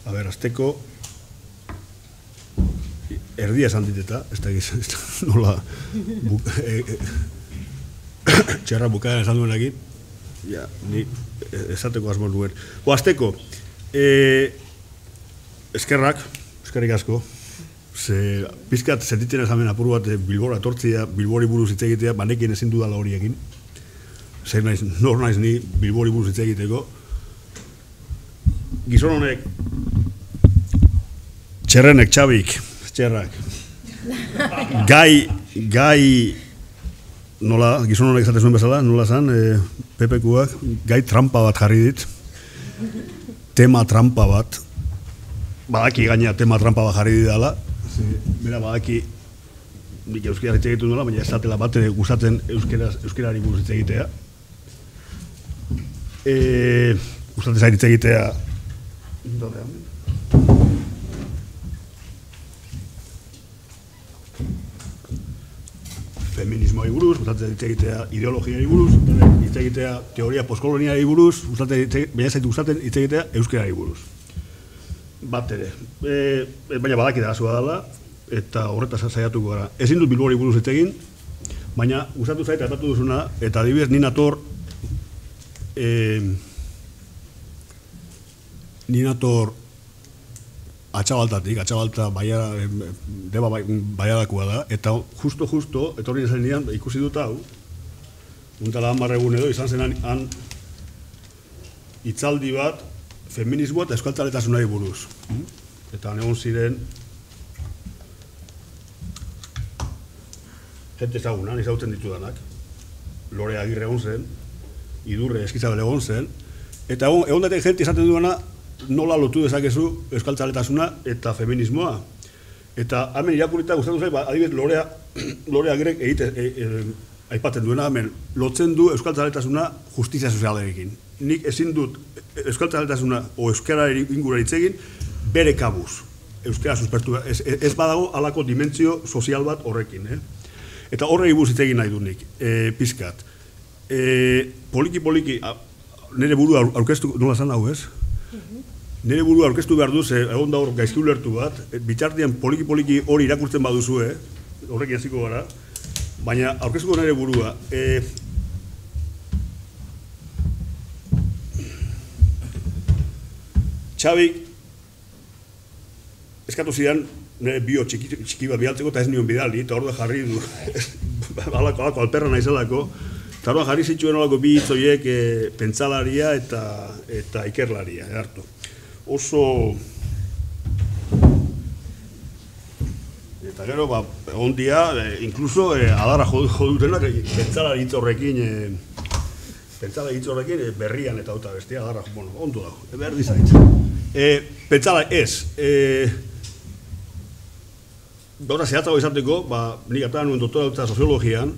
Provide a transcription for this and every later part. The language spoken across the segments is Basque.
A ber, azteko erdia esan diteta, ez da nola txerra bukaeran esan duen egin, ja, ni esateko asmo nuen. Azteko, eskerrik asko, pizkat sentitzen ezamen apuru bat Bilbora etortzea, Bilbori buruz hitz egitea, banekin ezin dudala hori egin. Zer naiz, nor naiz ni Bilbori buruz hitz egiteko. Gizon honek, txerrenek, txabik, txerrak, gai, nola, gizon honek esate zuen bezala, nola zan, PPK-ak, gai trampa bat jarri dit, tema trampa bat, badaki gaina tema trampa bat jarri didala, bera badaki, nik euskera hitz egitu nola, baina ez zatela bat gustatzen euskerari buruz hitz egitea. Gustatzen zait hitz egitea, feminismoari buruz, gustatzen hitz egitea ideologiari buruz, hitz egitea teoria postkoloniari buruz, baina zaitu gustatzen hitz egitea euskerari buruz. Bat ere. Baina badaki da azua dela, eta horretaz saiatuko gara. Ezin dut Bilbori buruz hitz egin, baina gustatu zait aipatu duzuna, eta adibidez ni nator Atxabalta deba baiadakoa da, eta justo, etorri zen nian, ikusi dut hau, untala 10 egun edo, izan zen han hitzaldi bat, feminismoa eta euskaltzaletasunari buruz. Eta egon ziren, jente ezagunan, ezagutzen ditudanak, Lore Agirre egon zen, Idurre Eskizabel egon zen, eta egon datek jente izaten duena, nola lotu dezakezu euskaltzaletasuna eta feminismoa. Eta hemen irakurita gustatu zait, adibidez Lore Agirrek aipatzen duena, hemen lotzen du euskaltzaletasuna justizia sozialarekin. Nik ezin dut euskaltzaletasuna o euskara ingura hitz egin bere kabuz. Euskara suspertu, ez badago halako dimentsio sozial bat horrekin. Eta horrei buruz hitz egin nahi du nik, pizkat. Poliki, nire buru aurkeztu, nola zan hau ez? Nire buru aurkeztu behar duz, egon da hor gaizki ulertu bat, bitartean poliki hori irakurtzen baduzue, horrekin hasiko gara, baina aurkeztuko nire burua. Txabik, eskatu zidan, nire bio txiki bat bialtzeko eta ez nion bidali, eta hor da jarri du, alako alperra naizelako, eta hor da jarri zituen olako bi hitzoiek pentsalaria eta ikerlaria, hartu. Oso... Eta gero, egon dia, inkluso adarra jodutenak, pentsalari hitz horrekin, berrian eta auta bestia, adarra, bueno, ondo dago, berdi zait. Pentsala ez, gauza zehatzago izateko, nik atan nuen doktorautza soziologian,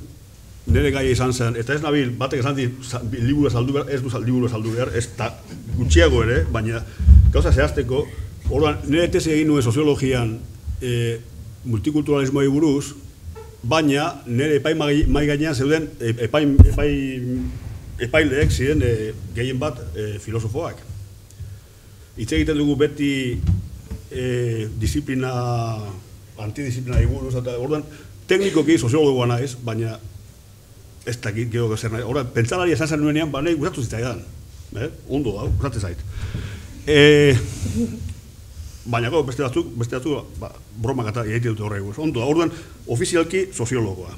nire gaia izan zen, eta ez nabil, batek esan dit, liburu saldu behar, ez du liburu saldu behar, ez da gutxiago ere, baina gauza zehazteko, orduan, nire tesi egin nuen soziologian multikulturalismoari buruz, baina nire epai mai gainean zeuden epaileek ziren gehien bat filosofoak. Hitz egiten dugu beti antidisiplinari buruz, eta orduan, teknikoki soziologoa naiz, baina ez dakit gero zer nahi. Horra, pentsalari esan zen nuenean, nahi gustatu zitzaidan. Ondo da, gustatzen zait. Baina beste batzuk, bromak eta egite dute horregu. Ondo da, orduan, ofizialki soziologoa.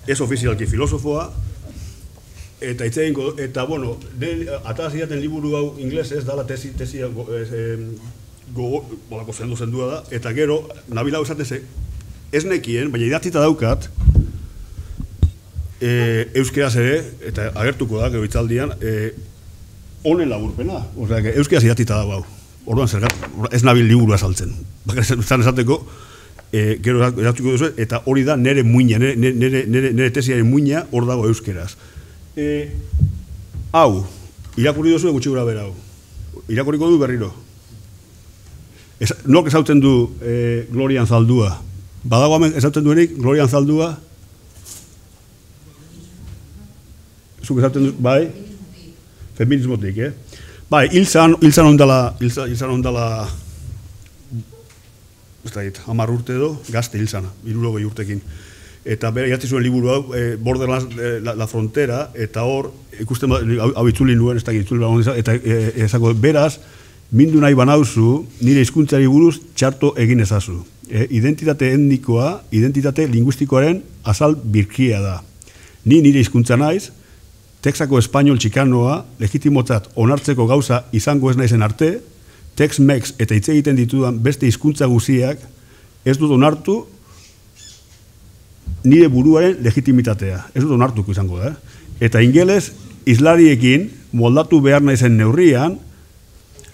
Ez ofizialki filosofoa, eta itzeginko, eta bueno, atara zidaten liburu hau inglesez, dala tesia bolako zendua da, eta gero, nabila hau esateze, ez nekien, baina idatzita daukat, euskeraz ere, eta agertuko da, gero hitzaldian, honen laburpena. Osea, euskeraz idatzita dago hau. Orduan zergat, ez nabil liburua saltzen. Zan esateko, gero eratzuko duzu, eta hori da nire muina, nire tesiaren muina hor dago euskeraz. Hau, irakurri duzu gutxi gura bera hau. Irakurriko du berriro. Nork ezautzen du Glorian Zaldua? Badago hemen ezautzen duenik Glorian Zaldua? Zuk ezautzen du, bai? Feminismotik, Bai, hilzan ondala, ez da dit, 10 urte edo, gazte hilzana, 60 urtekin. Eta bera idatzi zuen liburu hau, Borderlands, la frontera, eta hor, ikusten hau itzuli nuen, ez da itzuli bagoen, eta ezako, beraz, mindu nahi banauzu, nire hizkuntzari buruz txarto egin ezazu. Identitate etnikoa, identitate linguistikoaren azal birkia da. Ni nire hizkuntza naiz, Texako espainol txikanoa, legitimotzat onartzeko gauza izango ez naizen arte, Tex-Mex eta hitz egiten ditudan beste hizkuntza guziak ez dut onartu nire buruaren legitimitatea. Ez dut onartuko izango da. Eta ingeles, islariekin moldatu behar naizen neurrian,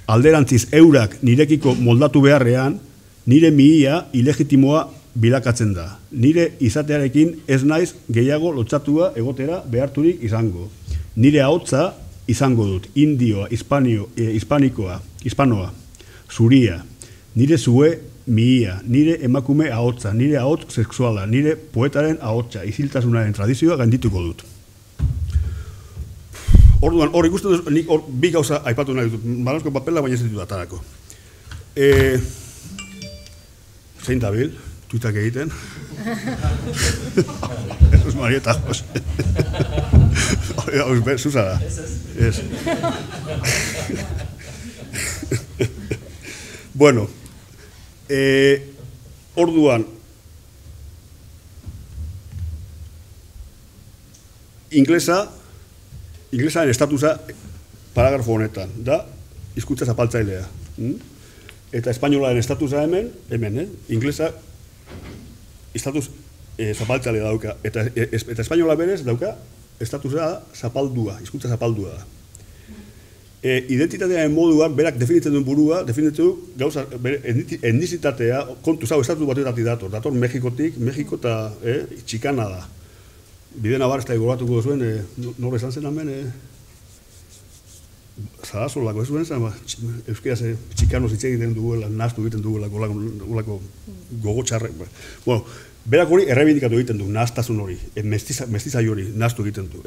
alderantziz eurak nirekiko moldatu beharrean, nire mihia ilegitimoa bilakatzen da. Nire izatearekin ez naiz gehiago lotxatua egotera beharturik izango. Nire ahotsa izango dut, indioa, hispanikoa, hispanoa, zuria, nire zue mihia, nire emakume ahotsa, nire ahotz sexuala, nire poetaren ahotsa, iziltasunaren tradizioa gaindituko dut. Orduan, hor ikusten dut, nik hor bi gauza aipatu nahi dut, balanzko papela baina ez ditut atarako. Zein dabil, tuitak egiten. Jesus Marieta, Jose. Zuzara. Ez. Bueno, orduan, inglesaren estatusa paragrafo honetan, da hizkuntza zapaltzailea. Eta espainolaren estatusa hemen, inglesa estatus zapaltzailea dauka. Eta espainola berez dauka estatusa zapaldua, hizkuntza zapaldua da. Identitatearen moduan, berak definitzen duen burua, definitzen du gauza, etnizitatea, kontu zau, estatu batetatik dator Mexikotik, Mexiko eta txikana da. Bide nabar, ez da egoratuko zuen, nore esan zen hemen, Zarazolako ez duen zen, euskaraz txikanoz hitz egiten duela, nahaztu egiten duela, olako gogotxarrek. Bueno, berak hori errebindikatu egiten du, nahaztasun hori, mestizai hori nahaztu egiten du,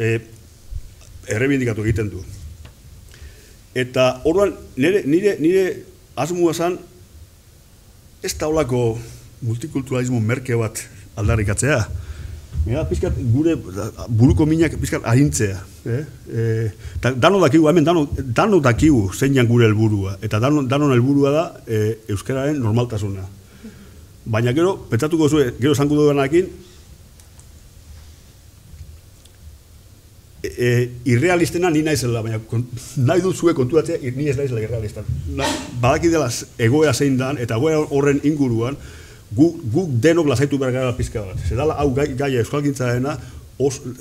errebindikatu egiten du. Eta orduan, nire asmoa zen, ez da olako multikulturalismo merke bat aldarrikatzea. Pizkat gure buruko minak pizkat arintzea. Dano dakigu, hemen dano dakigu zeinan gure helburua. Eta danon helburua da euskararen normaltasuna. Baina gero, pentsatuko zuen, gero esango duenarekin, irrealistena ni naizela, baina nahi dut zue konturatzea, ni ez naizela irrealistan. Badaki dela egoera zein dan, eta egoera horren inguruan, guk denok lasaitu behar gara pizka bat. Zedala hau gaia euskalgintzaena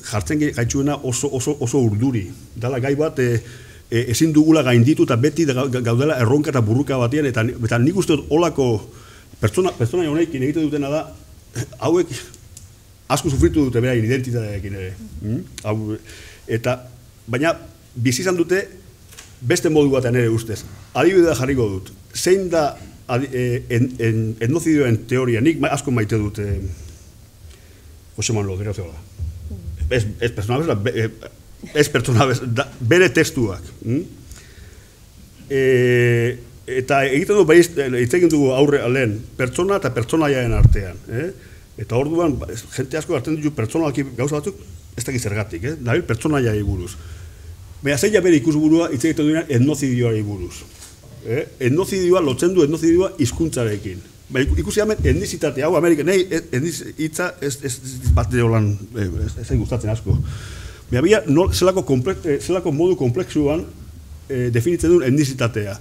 jartzen gaitxuena oso urduri. Dala gai bat ezin dugula gainditu eta beti gaudela erronka eta burruka batean, eta nik uste dut olako pertsona honekin egiten dutena da, hauek asko sufritu dute beraien identitatearekin ere. Baina bizi izan dute beste modu batean ere ustez. Adibidea jarriko dut. Zein da etnozidioen teoria, nik asko maite dut Jose Manuel Odriozola. Ez pertsona bezala, bere testuak. Eta egiten du hitz egin dugu aurre lehen, pertsona eta pertsonaiaren artean. Eta orduan, jente asko hartzen ditu pertsonalki gauza batzuk, ez dakit zergatik, dabil pertsonaiari buruz. Baina zeila bere ikusburua hitz egiten duenean etnozidioari buruz. Etnozidioa, lotzen du etnozidioa hizkuntzarekin. Ikusi hemen etnizitatea, hau Amerikan, nahi hitza ez bat deolan, ez gustatzen asko. Baina zelako modu komplexuan definitzen duen etnizitatea.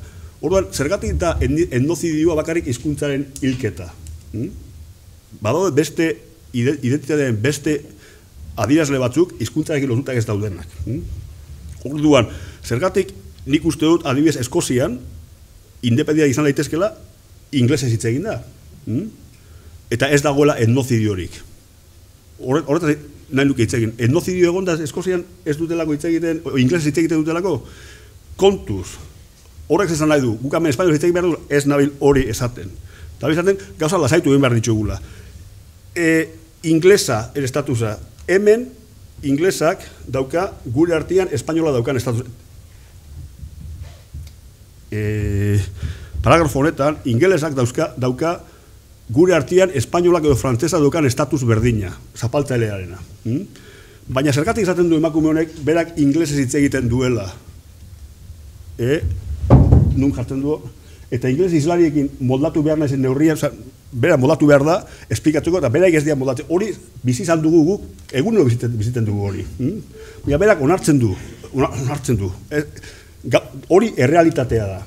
Orduan, zergatik da etnozidioa bakarrik hizkuntzaren hilketa. Badaude beste identitatearen beste adierazle batzuk hizkuntzarekin lotutak ez daudenak. Orduan, zergatik nik uste dut adibidez Eskozian independentia izan daitezkela inglesez hitz egin da. Eta ez dagoela etnozidiorik. Horretaz nahi nuke hitz egin. Etnozidio egon da Eskozian ez dutelako hitz egiten, inglesez hitz egiten dutelako, kontuz. Horrek esan nahi du, guk hemen espainol hitz egin behar du, ez nabil hori esaten. Eta esaten, gauza lasaitu egin behar ditugula. Inglesa estatusa, hemen inglesak dauka gure artean espainola daukan estatusa. paragrafo honetan, ingelesak dauka gure artean espainolak edo frantzesa daukan estatus berdina, zapaltzailearena. Baina zergatik izaten du emakume honek, berak inglesez hitz egiten duela. Nun jartzen du, eta ingeles islariekin moldatu behar nahizen neurrian, bera moldatu behar da, esplikatzeko, eta beraik ez dira moldatzen. Hori bizi izan dugu guk, egunero biziten dugu hori. Baina berak onartzen du. Hori errealitatea da.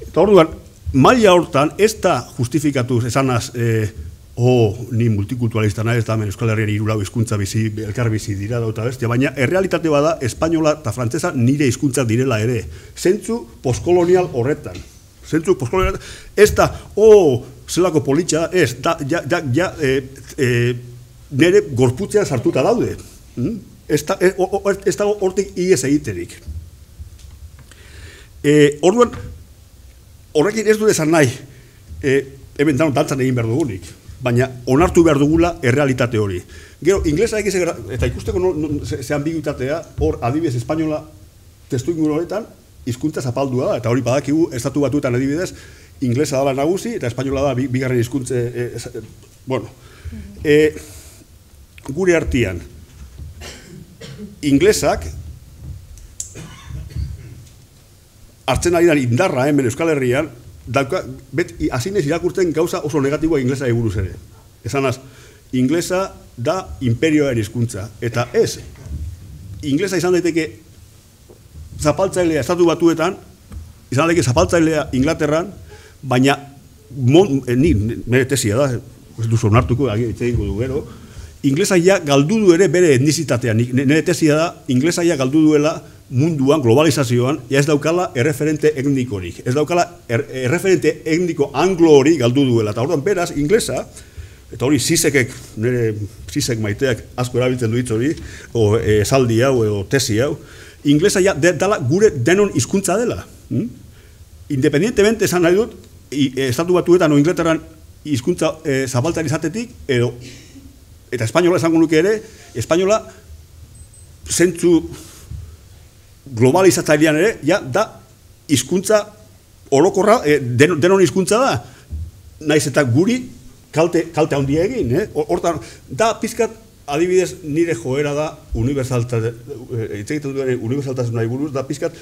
Eta orduan, maila hortan, ez da justifikatuz esanaz, ni multikulturalista nahi, ez da hemen Euskal Herrian hiru lau hizkuntza elkar bizi dira dauta bestia, baina errealitate bada espainola eta frantsesa nire hizkuntzak direla ere. Zentzu postkolonial horretan. Zentzu postkolonial, ez da, zelako politxa, ez, nire gorputzean sartuta daude. Ez da hortik ies egiterik. Orduan, horrekin ez du esan nahi, hemen dantzan egin behar dugunik. Baina onartu behar dugula errealitate hori. Gero, inglesa eta ikusteko ze ambiguitatea, hor adibidez espainola testu inguru horretan, hizkuntza zapaldua da, eta hori badakigu estatu batuetan adibidez, inglesa dala nagusi, eta espainola da bigarren hizkuntze, gure artean, inglesak, hartzen ari da indarra hemen Euskal Herrian, hazinez irakurtzen gauza oso negatiboa inglesa eguruz ere. Esanaz, inglesa da imperioaren hizkuntza. Eta ez, inglesa izan daiteke zapaltzailea estatu batuetan, izan daiteke zapaltzailea Inglaterran, baina nire tesia da, ez duzu onartuko, itzegingo du gero, inglesa ja galdu du ere bere etnizitatea. Nire tesia da, inglesa ja galdu duela munduan, globalizazioan, ez daukala erreferente etnikorik. Ez daukala erreferente etniko anglo hori galdu duela. Eta orduan, beraz, inglesa, eta hori Zizek maiteak asko erabiltzen du hitz hori, esaldi hau, edo tesi hau, inglesa ja dela gure denon hizkuntza dela. Independientemente esan nahi dut, estatu batuetan o Inglaterran hizkuntza zapaltzari izatetik, eta espainola esango nuke ere, espainola zentzu globalizatzailean ere, da hizkuntza orokorra, denon hizkuntza da, naiz eta guri kalte handia egin. Hortan, da pizkat adibidez nire joera da unibertsaltasunari buruz, da pizkat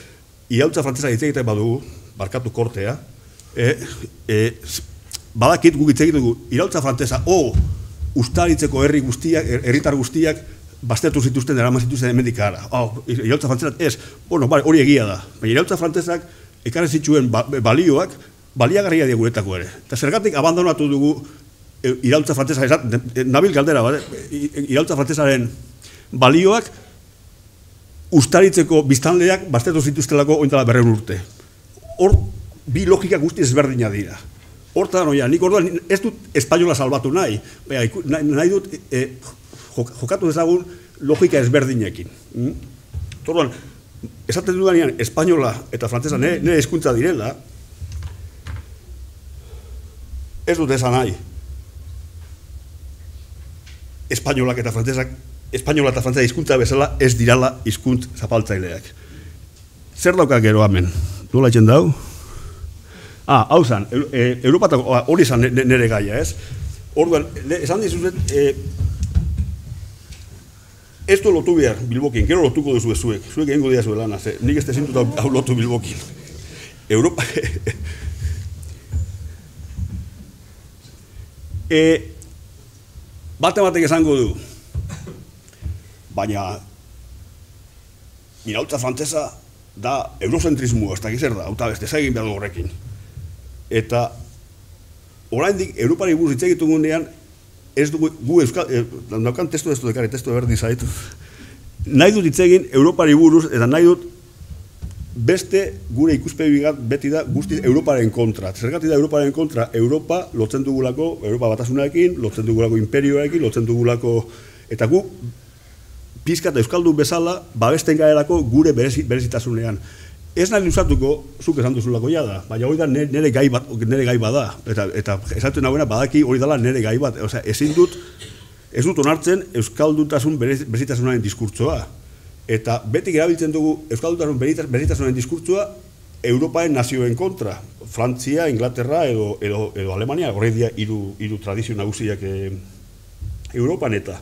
iraultza frantzesa hitz egiten badugu, barkatu kortea, badakit guk hitz egiten dugu, iraultza frantzesa, ustaritzeko herritar guztiak, baztertu zituzten, eraman zituzten hemendik ara. Iraultza frantzesak ez, hori egia da. Baina iraultza frantzesak ekarri zituen balioak, baliagarria guretako ere. Eta zergatik abandonatu dugu iraultza frantzesa, nabil galdera, iraultza frantzesaren balioak ustaritzeko biztanleak baztertu zituztelako ointala 200 urte. Hor, bi logika guzti ezberdina dira. Hortan, nik orduan ez dut espainola salbatu nahi, nahi dut jokatu dezagun logika ezberdinekin. Orduan, esaten dudanean espainola eta frantzesa nire hizkuntza direla, ez dut esan nahi. Espainolak eta frantzesak, espainola eta frantzesa hizkuntza bezala ez dirala hizkuntz zapaltzaileak. Zer dauka gero hemen? Nola itzen dau? Hau zan, Europatako, hori zan nire gaia, ez? Orduan, esan dizuzet, ez du lotu behar Bilbokin, gero lotuko duzu zuek egingo dira zuen lana, nik ez tezintuta hau lotu Bilbokin. Europa... Batek esango du, baina iraultza frantzesa da eurocentrismoa, ez da gizer da, hauta beste egin behar du horrekin. Eta oraindik Europari buruz hitz egitugunean, ez dugu, gu euskal, daukan testu berdi zaitu. Nahi dut hitz egin Europari buruz, eta nahi dut beste gure ikuspegi beti da guztiz Europaren kontra. Zergatik da Europaren kontra? Europa lotzen dugulako, Europa batasunarekin, lotzen dugulako imperioarekin, lotzen dugulako, eta gu pizka eta euskaldun bezala babesten garelako gure berezitasunean. Ez nahi luzatuko, zuk esan duzulako jada, baina hori da nire gai bada, eta esaten nagoena badaki hori dela nire gai bat. Ez dut onartzen euskalduntasun berezitasunaren diskurtsoa. Eta betik erabiltzen dugu euskalduntasun berezitasunaren diskurtsoa Europaren nazioen kontra. Frantzia, Inglaterra edo Alemania, horrek dira hiru tradizio nagusiak Europan eta.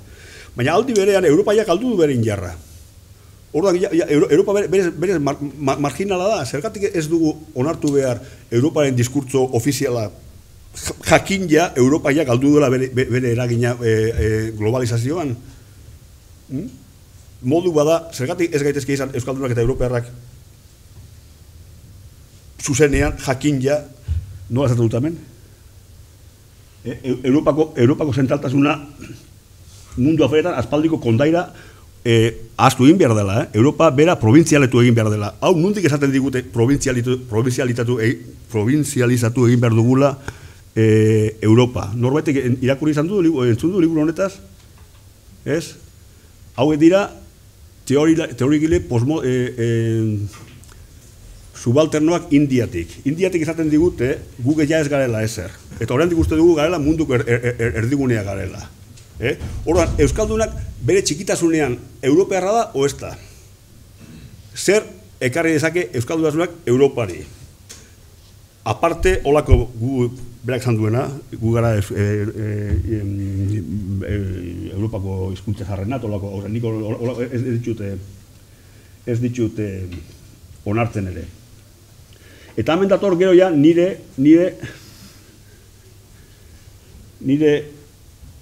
Baina aldi berean, Europaiak galdu du bere indarra. Orduan, Europa berez marginala da, zergatik ez dugu onartu behar Europaren diskurtso ofiziala jakin ja Europaiak galdu duela bere eragina globalizazioan. Modu bada, zergatik ez gaitezke izan Euskaldunak eta Europearrak zuzenean jakin ja, nola esaten dut hemen? Europako zentraltasuna mundu aferetan aspaldiko kondaira ahaztu egin behar dela, Europa bera provintzialetu egin behar dela. Hau, nondik esaten digute provintzializatu egin behar dugula Europa. Norbaitek irakurri izan du, entzun du liburu honetaz? Ez? Hau dira teorigile subalternoak Indiatik. Indiatik esaten digute, guge ja ez garela ezer. Eta oraindik uste dugu garela munduko erdigunea garela. Orduan, Euskaldunak bere txikitasunean Europearra da o ez da? Zer ekarri dezake Euskaldunasunak Europari? Aparte, holako gu berak esan duena, gu gara Europako hizkuntza jarrenat, holako, ez ditut onartzen ere. Eta hemen dator gero ja nire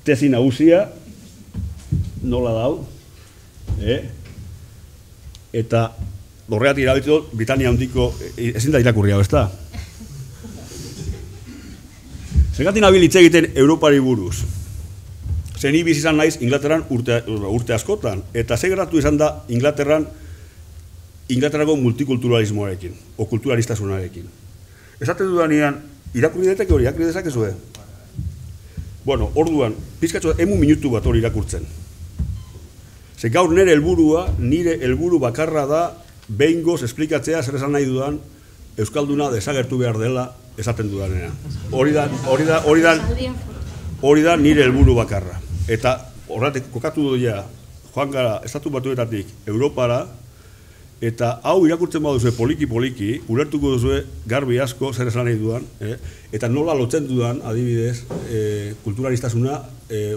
tesi nagusia, nola dau, eta horregatik erabiltzen dut Britania handiko, ezin da irakurri hau, ez da? Zergatik nabil hitz egiten Europari buruz. Zen ibiz izan naiz Inglaterran urte askotan, eta ze gertatu izan da Inglaterrako multikulturalismoarekin, o kulturalistasunarekin. Esaten dudanean, irakurri deteke hori, irakurri dezakezue? Bueno, orduan, pizkatxo, minutu bat hori irakurtzen. Ze gaur nire helburu bakarra da, behingoz esplikatzea zer esan nahi dudan, Euskalduna desagertu behar dela esaten dudanean. Hori da nire helburu bakarra. Eta horretik kokatu duia, joan gara, Estatu Batuetatik Europara, eta hau irakurtzen baduzue poliki-poliki, ulertuko duzue garbi asko zer esan nahi dudan, eta nola lotzen dudan, adibidez, kulturalistasuna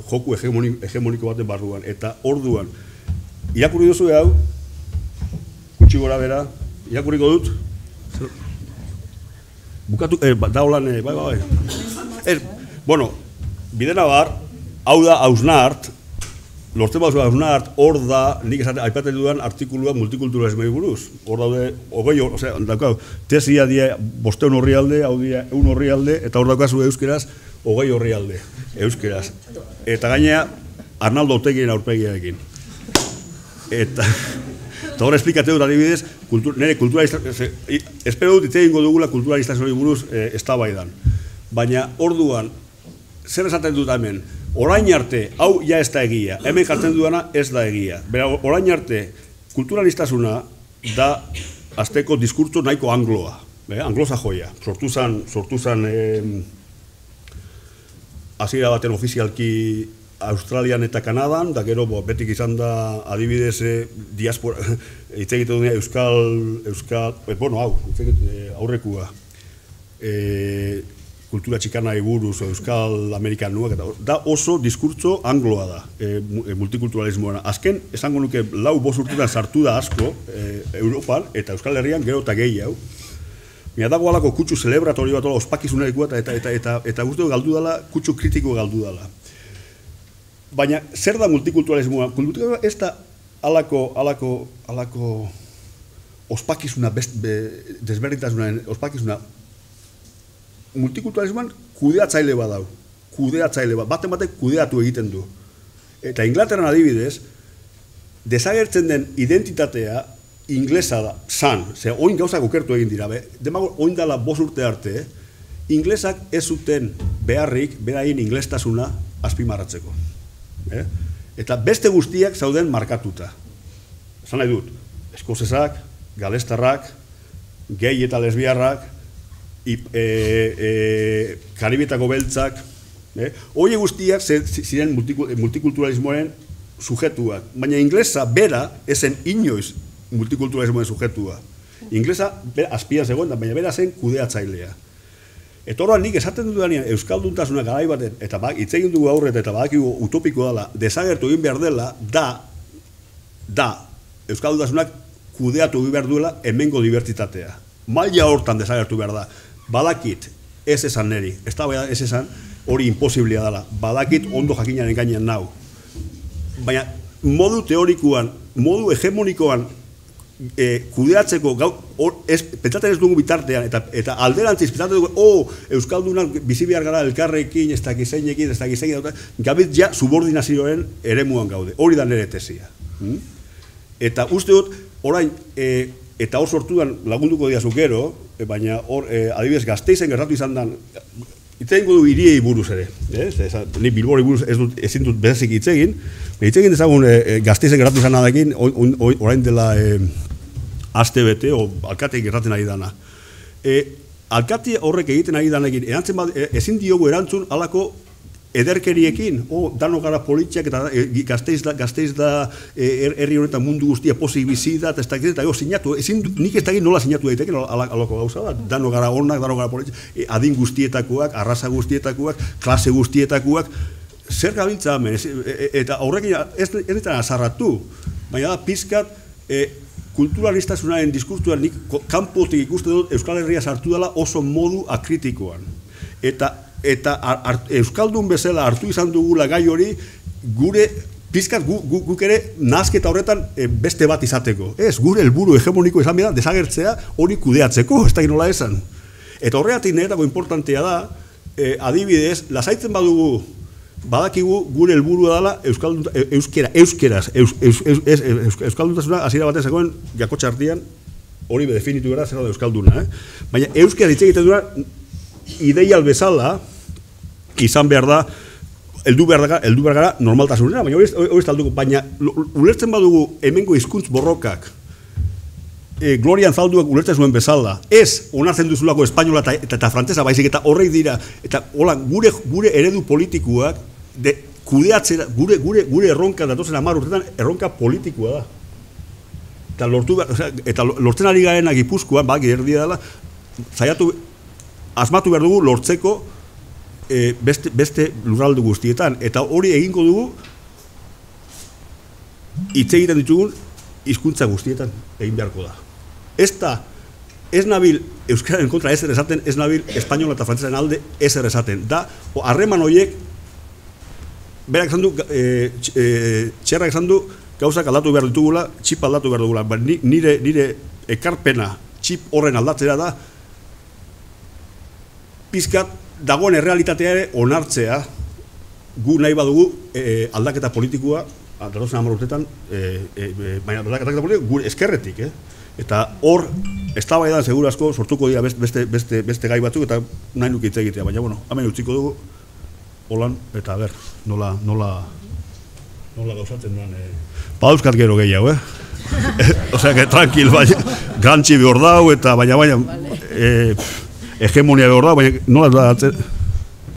joku hegemoniko baten barruan. Eta orduan, irakurri duzue hau, gutxi gora bera, irakurriko dut, bukatu, da holan, bai. Bueno, bidena bar, hau da Hausnart, lortzen bauzua Hausnart, hor da, nik esaten aipatzen dudan artikulua multikulturalismei buruz. Hor daude, tesia die 500 orrialde, hau die 1 orrialde, eta hor daukazu euskeraz, 20 orrialde, euskeraz. Eta gainea, Arnaldo Otegien aurpegiarekin. Eta hor esplikatu dut adibidez, nire kulturalistazioa, espero dut itzegingo dugula kulturalistazioa buruz eztabaidan. Baina orduan, zer esaten dut hemen, orain arte, hau ja ez da egia, hemen jartzen dudana ez da egia. Bera, orain arte, kulturalistasuna da azteko diskurtso nahiko angloa, anglosa joia. Sortu zan hasiera baten ofizialki Australian eta Kanadan, da gero betik izan da adibidez diaspora, hitz egiten dut euskal, bueno, hau, aurrekua, kultura txikana buruz, euskal amerikanuak, da oso diskurtso angloa da, multikulturalismoa. Azken, esango nuke, 4-5 urtetan sartu da asko Europan, eta Euskal Herrian gero eta gehi hau. Mira, dago alako kutsu celebratori bat, ospakizunarekua, eta guztu galdu dela, kutsu kritiko galdu dela. Baina, zer da multikulturalismoa? Multikulturalismoa ez da alako ospakizuna, desberdintasunaren ospakizuna. Multikulturalismoan kudeatzaile bat dau. Baten batek kudeatu egiten du. Eta Inglaterran adibidez, desagertzen den identitatea inglesa da, oin gauzak okertu egin dira, demago oin dala 5 urte arte, inglesak ez zuten beharrik, beraien inglestasuna azpimarratzeko. Eta beste guztiak zauden markatuta. Esan nahi dut, eskozesak, galestarrak, gei eta lesbiarrak, Karibietako beltzak, hori guztiak ziren multikulturalismoaren sujetuak, baina inglesa bera ezen inoiz multikulturalismoaren sujetua. Inglesa azpian zegoen, baina bera zen kudeatzailea. Eta horrean nik esaten dudanean euskalduntasuna garai baten, eta hitz egin dugu aurret eta badakigu utopiko dela, desagertu egin behar dela, da euskaldutasunak kudeatu egin behar duela hemengo dibertsitatea. Maila hortan desagertu behar da. Badakit, ez esan neri, ez da ez esan hori imposiblia dela. Badakit ondo jakinaren gainean nau. Baina modu teorikoan, modu hegemonikoan kudeatzeko, pentsatzen ez dugu bitartean, eta alderantziz, pentsatzen dugu, euskaldunak bizi behar gara elkarrekin, ez dakizeinekin, gabit ja subordinazioaren eremuan gaude. Hori da nire tesia. Eta uste dut, orain, eta hor sortuan lagunduko diazu gero, baina hor, adibidez, Gasteizen gertatu izan dan, itzein du hiriei buruz ere, ni Bilbori buruz ezin dut bezazik itzegin, itzegin dezagun Gasteizen gertatu izan nadekin, orain dela aste bete, o alkateik gertatzen ari dana. Alkate horrek egiten ari danekin, ezin diogu erantzun alako ederkeriekin, dano gara politxak, eta Gasteiz da herri honetan mundu guztia pozik bizi da, eta sinatu, nik ez dakit nola sinatu daiteken alako gauza bat, dano gara onak, dano gara politxak, adin guztietakoak, arraza guztietakoak, klase guztietakoak, zer gabiltza hemen, eta horrekin ez ditan azarratu, baina da pizkat kulturalistasunaren diskurtuan nik kanpotik ikusten dut Euskal Herria sartu dela oso modu akritikoan. Eta Euskaldun bezala hartu izan dugula gai hori, gure pizkat guk ere nazketa horretan beste bat izateko. Ez, gure helburu hegemoniko izan bida desagertzea hori kudeatzeko, ez da nola esan. Eta horregatik niretako importantea da, adibidez, lasaitzen badugu, badakigu gure helburua dela euskeraz, euskalduntasuna hasiera baten zegoen jakotxa artean, hori definitu gara zer da euskalduna, baina euskeraz hitz egiten duena ideial bezala izan behar da, heldu behar gara normaltasunera, baina hori ez talduko, baina ulertzen badugu hemengo hizkuntz borrokak, Glorian Zalduak ulertzen zuen bezala, ez onartzen duzulako espainola eta frantzesa baizik, eta horrek dira, eta gure eredu politikoak, kudeatzera, gure erronka datozen 10 urtetan erronka politikoa da. Eta lortzen ari garen Gipuzkoan, erdia dela, asmatu behar dugu lortzeko beste lurralde guztietan, eta hori egingo dugu hitz egiten ditugun hizkuntza guztietan egin beharko da. Ez nabil euskararen kontra ezer esaten, ez nabil espainola eta frantzesaren alde ezer esaten. Da, harreman horiek, berak esan du, txerrak esan du, gauzak aldatu behar ditugula, txip aldatu behar dugula. Nire ekarpena txip horren aldatzera da, pizkat dagoen errealitatea ere onartzea, gu nahi badugu aldaketa politikoa, datozen 10 urtetan, baina aldaketa politikoa gure eskerretik, eta hor, eztabaidan seguru asko sortuko dira beste gai batzuk, eta nahi nuke hitz egitea, baina, hemen utziko dugu, holan, eta ber, nola gauzatzen duen, badauzkat gero gehiago, Osea, que tranquil, baina, gantxi behor dau, eta baina, hegemonia behor dau, baina, nola da,